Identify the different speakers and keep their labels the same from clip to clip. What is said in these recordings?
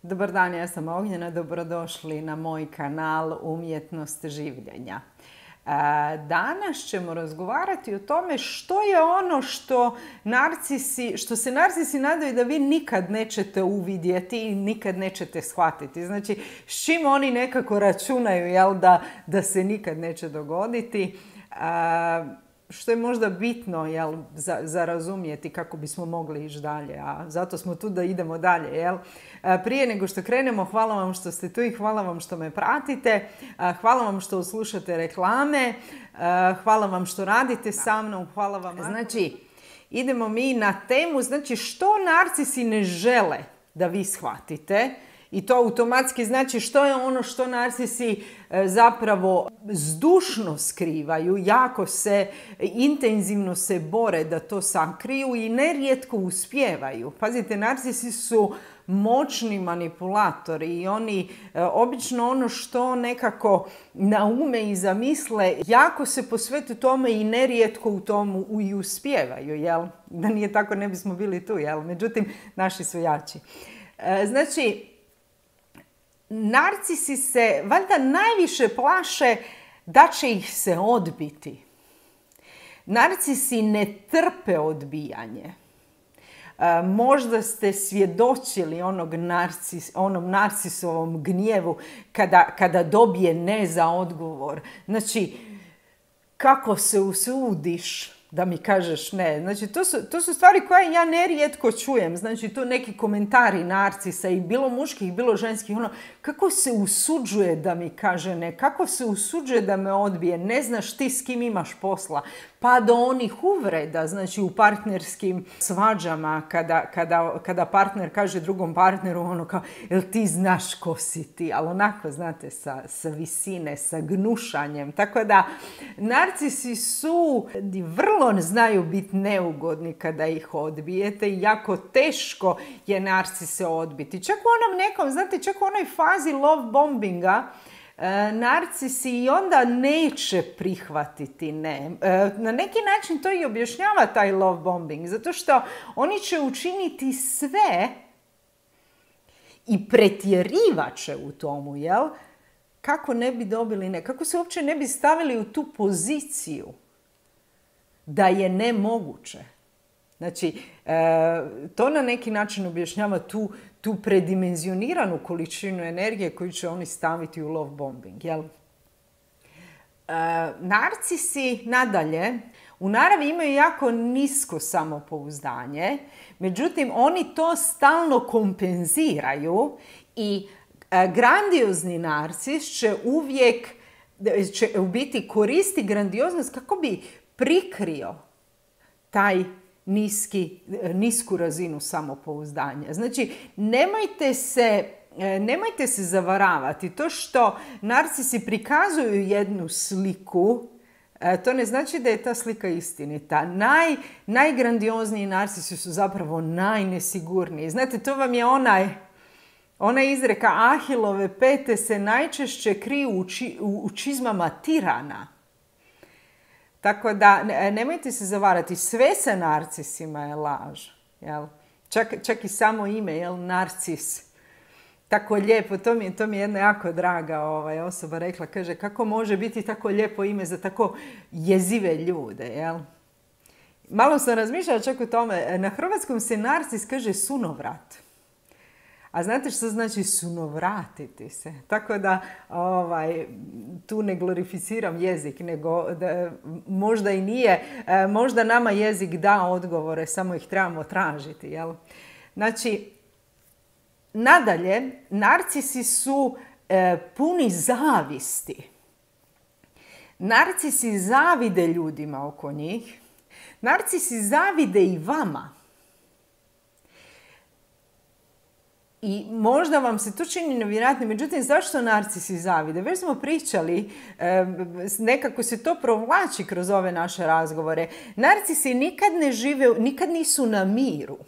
Speaker 1: Dobar dan, ja sam Ognjena, dobrodošli na moj kanal Umjetnost življenja. Danas ćemo razgovarati o tome što je ono što se narcisi nadaju da vi nikad nećete uvidjeti i nikad nećete shvatiti. Znači, s čim oni nekako računaju, da se nikad neće dogoditi. Što je možda bitno za razumjeti kako bismo mogli ići dalje, a zato smo tu da idemo dalje. Prije nego što krenemo, hvala vam što ste tu i hvala vam što me pratite, hvala vam što slušate reklame, hvala vam što radite sa mnom, hvala vam. Znači, idemo mi na temu, znači što narcisi ne žele da vi shvatite. I to automatski znači što je ono što narcisi zapravo zdušno skrivaju, jako se, intenzivno se bore da to sakriju i nerijetko uspijevaju. Pazite, narcisi su moćni manipulatori i oni obično ono što nekako naume i zamisle, jako se posvete tome i nerijetko u tomu i uspijevaju, jel? Da nije tako ne bismo bili tu, jel? Međutim, naši su jači. Znači, narcisi se valjda najviše plaše da će ih se odbiti. Narcisi ne trpe odbijanje. Možda ste svjedočili onom narcisovom gnjevu kada dobije ne za odgovor. Znači, kako se usudiš da mi kažeš ne. Znači, to su stvari koje ja nerijetko čujem. Znači, to neki komentari narcisa i bilo muških, bilo ženskih. Kako se usuđuje da mi kaže ne? Kako se usuđuje da me odbije? Ne znaš ti s kim imaš posla. Pa do onih uvreda, znači u partnerskim svađama, kada partner kaže drugom partneru kao, jel ti znaš ko si ti? Ali onako, znate, sa visine, sa gnušanjem. Tako da, narcisi su vrlo znaju biti neugodni kada ih odbijete i jako teško je narcise odbiti. Čak u onom nekom, znate, čak u onoj fazi love bombinga, narcisi i onda neće prihvatiti ne. Na neki način to i objašnjava taj love bombing, zato što oni će učiniti sve i pretjerivat će u tomu, jel? Kako ne bi dobili ne, kako se uopće ne bi stavili u tu poziciju da je nemoguće. Znači, to na neki način objašnjava tu predimenzioniranu količinu energije koju će oni staviti u love bombing. Jel? Narcisi nadalje u naravi imaju jako nisko samopouzdanje, međutim oni to stalno kompenziraju i grandiozni narcis će uvijek u biti koristi grandioznost kako bi prikrio taj nisku razinu samopouzdanja. Znači, nemojte se zavaravati. To što narcisi prikazuju jednu sliku, to ne znači da je ta slika istinita. Najgrandiozniji narcisi su zapravo najnesigurniji. Znate, to vam je ona izreka Ahilove pete se najčešće kriju u čizmama tirana. Tako da, nemojte se zavarati, sve sa narcisima je laž. Jel? Čak i samo ime, jel, narcis. Tako lijepo, to mi je jedna jako draga osoba rekla, kaže, kako može biti tako lijepo ime za tako jezive ljude, jel? Malo sam razmišljala čak o tome, na hrvatskom se narcis kaže sunovrat. A znate što znači sunovratiti se? Tako da tu ne glorificiram jezik, nego možda i nije, možda nama jezik da odgovore, samo ih trebamo tražiti. Jel? Znači, nadalje, narcisi su puni zavisti. Narcisi zavide ljudima oko njih. Narcisi zavide i vama. I možda vam se to čini nevjerojatno, međutim, zašto narcisi zavide? Već smo pričali, nekako se to provlači kroz ove naše razgovore. Narcisi nikad nisu na miru.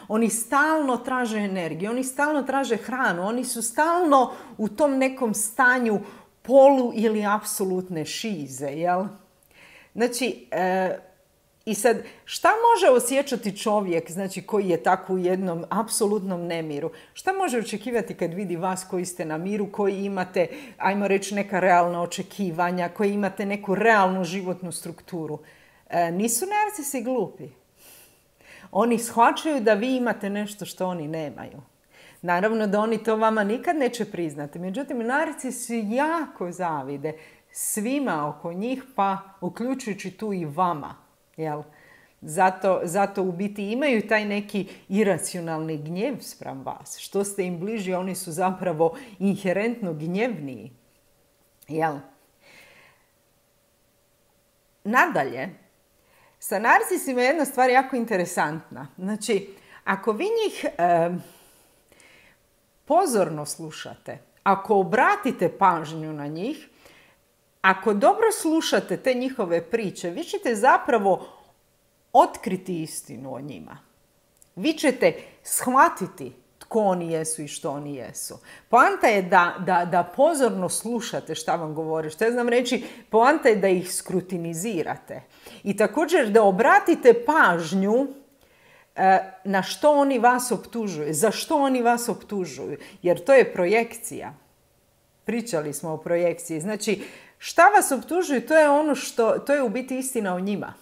Speaker 1: Oni stalno traže energiju, oni stalno traže hranu, oni su stalno u tom nekom stanju polu ili apsolutne šize, jel? Znači, I sad, šta može osjećati čovjek, znači koji je tako u jednom apsolutnom nemiru? Šta može očekivati kad vidi vas koji ste na miru, koji imate, ajmo reći, neka realna očekivanja, koji imate neku realnu životnu strukturu? Nisu narcisi glupi. Oni shvaćaju da vi imate nešto što oni nemaju. Naravno da oni to vama nikad neće priznati. Međutim, narcisi jako zavide svima oko njih, pa uključujući tu i vama. Jel? Zato u biti imaju taj neki iracionalni gnjev spram vas. Što ste im bliži, oni su zapravo inherentno gnjevniji. Jel? Nadalje, sa narcisima je jedna stvar jako interesantna. Znači, ako vi njih pozorno slušate, ako obratite pažnju na njih, ako dobro slušate te njihove priče, vi ćete zapravo otkriti istinu o njima. Vi ćete shvatiti tko oni jesu i što oni jesu. Poanta je da pozorno slušate šta vam govore. Što ja znam reći, poanta je da ih skrutinizirate. I također da obratite pažnju na što oni vas optužuju, za što oni vas optužuju. Jer to je projekcija. Pričali smo o projekciji. Znači, šta vas optužuju, to je ono to je u biti istina o njima.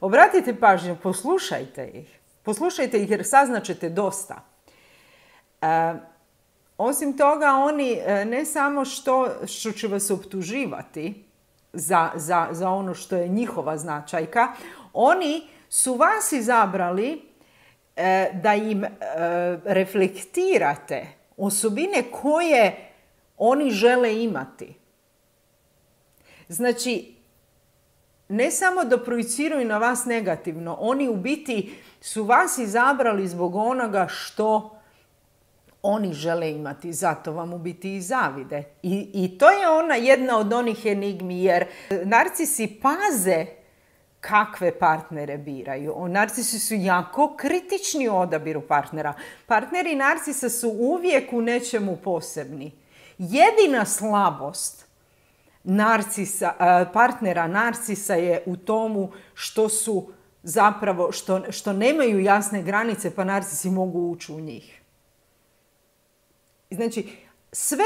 Speaker 1: Obratite pažnju, poslušajte ih. Poslušajte ih jer saznaćete dosta. Osim toga, oni ne samo što će vas optuživati za ono što je njihova značajka, oni su vas izabrali da im reflektirate osobine koje oni žele imati. Znači, ne samo da projiciraju na vas negativno, oni u biti su vas izabrali zbog onoga što oni žele imati, zato vam u biti i zavide. I to je jedna od onih enigmi, jer narcisi paze kakve partnere biraju. Narcisi su jako kritični u odabiru partnera. Partneri narcisa su uvijek u nečemu posebni. Jedina slabost partnera narcisa je u tomu što su zapravo, što nemaju jasne granice, pa narcisi mogu ući u njih. Znači, sve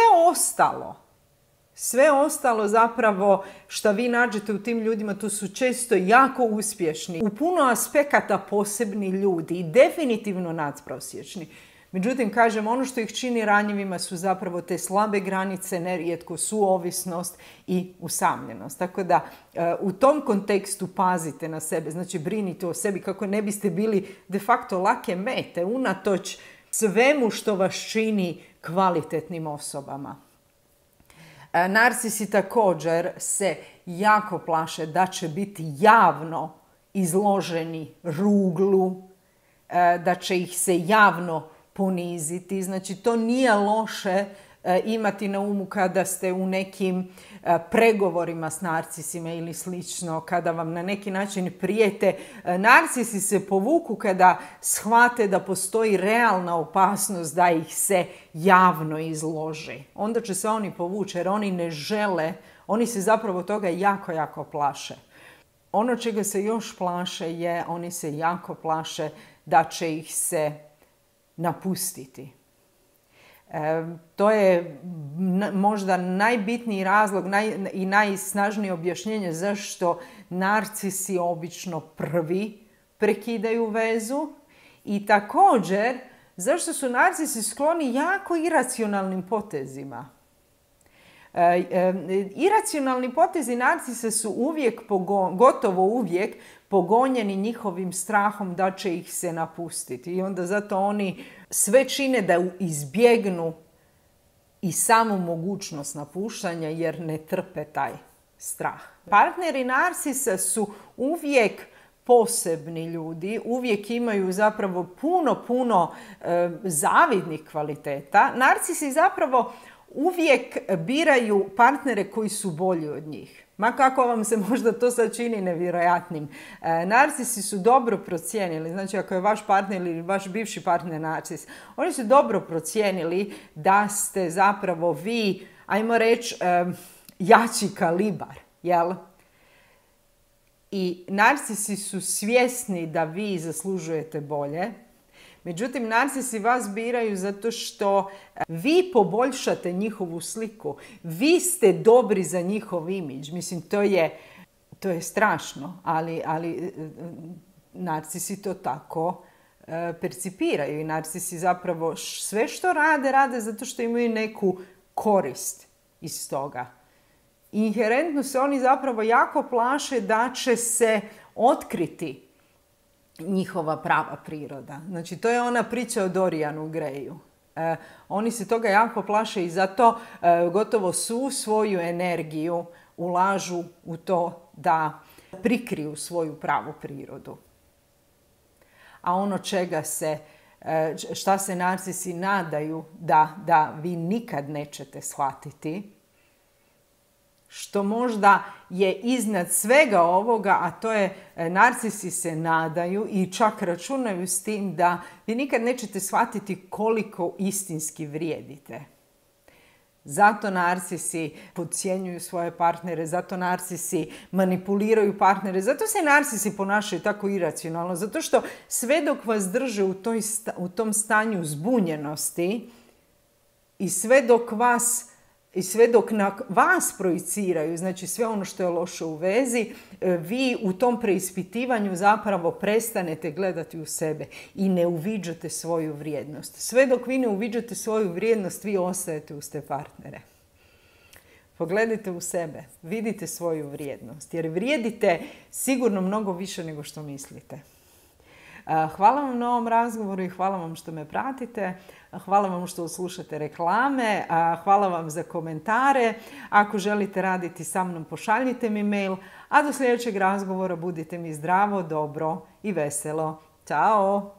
Speaker 1: ostalo zapravo što vi nađete u tim ljudima, to su često jako uspješni, u puno aspekata posebni ljudi i definitivno nadprosječni. Međutim, kažem, ono što ih čini ranjivima su zapravo te slabe granice, nerijetko suovisnost i usamljenost. Tako da u tom kontekstu pazite na sebe, znači brinite o sebi kako ne biste bili de facto lake mete, unatoč svemu što vas čini kvalitetnim osobama. Narcisi također se jako plaše da će biti javno izloženi ruglu, da će ih se javno poniziti. Znači, to nije loše imati na umu kada ste u nekim pregovorima s narcisima ili slično, kada vam na neki način prijete. Narcisi se povuku kada shvate da postoji realna opasnost da ih se javno izloži. Onda će se oni povući jer oni ne žele, oni se zapravo toga jako, jako plaše. Ono čega se još plaše je, oni se jako plaše da će ih se napustiti. To je možda najbitniji razlog i najsnažnije objašnjenje zašto narcisi obično prvi prekidaju vezu i također zašto su narcisi skloni jako iracionalnim potezima. Iracionalni potezi narcisa su uvijek, gotovo uvijek, pogonjeni njihovim strahom da će ih se napustiti. I onda zato oni sve čine da izbjegnu i samu mogućnost napuštanja jer ne trpe taj strah. Partneri narcisa su uvijek posebni ljudi, uvijek imaju zapravo puno zavidnih kvaliteta. Narcisi zapravo uvijek biraju partnere koji su bolji od njih. Ma kako vam se možda to sad čini nevjerojatnim. Narcisi su dobro procijenili, znači ako je vaš partner ili vaš bivši partner narcis, oni su dobro procijenili da ste zapravo vi, ajmo reći, jači kalibar, jel? I narcisi su svjesni da vi zaslužujete bolje. Međutim, narcisi vas biraju zato što vi poboljšate njihovu sliku. Vi ste dobri za njihov imidž. Mislim, to je strašno, ali narcisi to tako percipiraju. I narcisi zapravo sve što rade zato što imaju neku korist iz toga. Inherentno se oni zapravo jako plaše da će se otkriti njihova prava priroda. Znači, to je ona priča o Dorianu Greju. Oni se toga jako plaše i zato gotovo svu svoju energiju ulažu u to da prikriju svoju pravu prirodu. A ono šta se narcisi nadaju da vi nikad nećete shvatiti, što možda je iznad svega ovoga, a to je narcisi se nadaju i čak računaju s tim da vi nikad nećete shvatiti koliko istinski vrijedite. Zato narcisi podcjenjuju svoje partnere, zato narcisi manipuliraju partnere, zato se narcisi ponašaju tako iracionalno, zato što sve dok vas drže u tom stanju zbunjenosti i sve dok na vas projiciraju, znači sve ono što je loše u vezi, vi u tom preispitivanju zapravo prestanete gledati u sebe i ne uviđate svoju vrijednost. Sve dok vi ne uviđate svoju vrijednost, vi ostajete uz te partnere. Pogledajte u sebe, vidite svoju vrijednost, jer vrijedite sigurno mnogo više nego što mislite. Hvala vam na ovom razgovoru i hvala vam što me pratite. Hvala vam što slušate reklame. Hvala vam za komentare. Ako želite raditi sa mnom, pošaljite mi mail. A do sljedećeg razgovora budite mi zdravo, dobro i veselo. Ćao!